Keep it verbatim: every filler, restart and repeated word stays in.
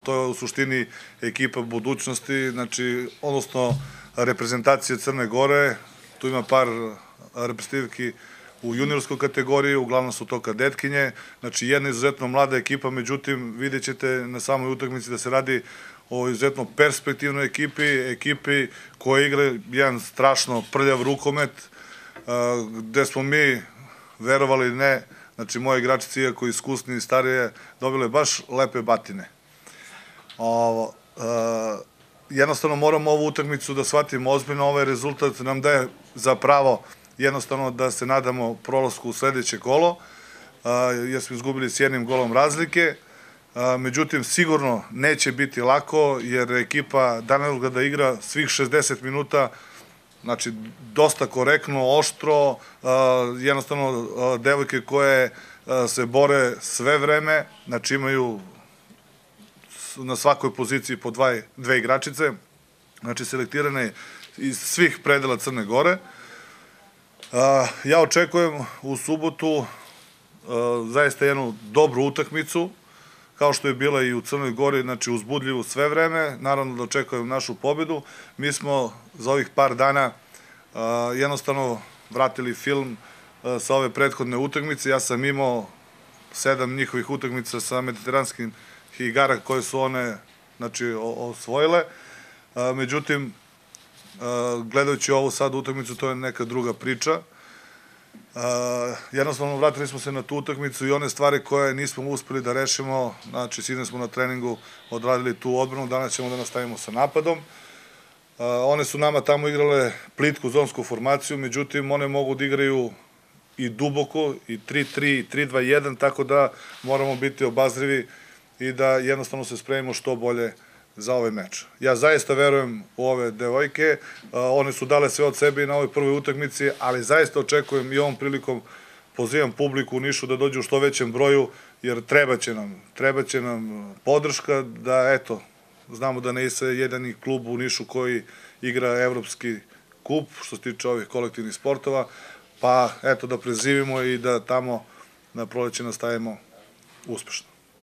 To je u suštini ekipa budućnosti, znači, odnosno reprezentacije Crne Gore. Tu ima par reprezentativki u juniorskoj kategoriji, uglavnom su to kadetkinje. Znači, jedna izuzetno mlada ekipa, međutim, vidjet ćete na samoj utakmici da se radi o izuzetno perspektivnoj ekipi, ekipi koja igra jedan strašno prljav rukomet, gde smo mi, verovali ili ne, znači, moje igračice, iako iskusni i starije, dobile baš lepe batine. Jednostavno moramo ovu utakmicu da shvatimo ozbiljno, ovaj rezultat nam daje za pravo jednostavno da se nadamo prolasku u sledeće kolo, jer smo izgubili s jednim golom razlike. Međutim, sigurno neće biti lako, jer ekipa Danilograda igra svih šezdeset minuta, znači dosta korektno, oštro, jednostavno devojke koje se bore sve vreme, znači imaju na svakoj poziciji po dve igračice, znači selektirane iz svih predela Crne Gore. Ja očekujem u subotu zaista jednu dobru utakmicu, kao što je bila i u Crnoj Gori, znači uzbudljivu sve vreme, naravno da očekujem našu pobedu. Mi smo za ovih par dana jednostavno vratili film sa ove prethodne utakmice. Ja sam imao sedam njihovih utakmica sa mediteranskim igara koje su one osvojile. Međutim, gledajući ovu sad utakmicu, to je neka druga priča. Jednostavno, vratili smo se na tu utakmicu i one stvari koje nismo uspeli da rešimo, znači, sinoć smo na treningu odradili tu odbranu, danas ćemo da nastavimo sa napadom. One su nama tamo igrale plitku zonsku formaciju, međutim, one mogu da igraju i duboko, i tri tri, i tri dva jedan, tako da moramo biti obazrivi i da jednostavno se spremimo što bolje za ovaj meč. Ja zaista verujem u ove devojke, one su dale sve od sebe i na ovoj prvoj utakmici, ali zaista očekujem i ovom prilikom pozivam publiku u Nišu da dođe u što većem broju, jer trebaće nam, trebaće nam podrška da, eto, znamo da ne je jedini klub u Nišu koji igra evropski kup, što se tiče ovih kolektivnih sportova, pa, eto, da prezivimo i da tamo na proleće nastavimo uspešno.